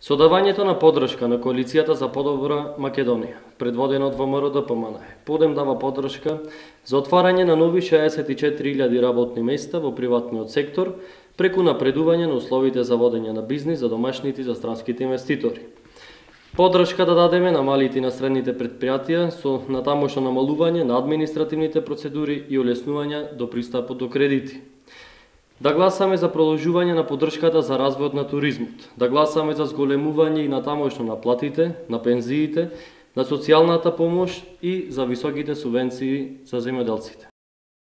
Со давањето на поддршка на Коалицијата за подобра Македонија, предводена од ВМРО-ДПМН, Подем дава поддршка за отварање на нови 64.000 работни места во приватниот сектор преку напредување на условите за водење на бизнис за домашните и за странските инвеститори. Поддршка да дадеме на малите и на средните предпријатија со натамошно намалување на административните процедури и олеснување до пристапот до кредити. Да гласаме за продолжување на поддршката за развојот на туризмот, да гласаме за зголемување и натамошно на платите, на пензиите, на социјалната помош и за високите субвенции за земјоделците.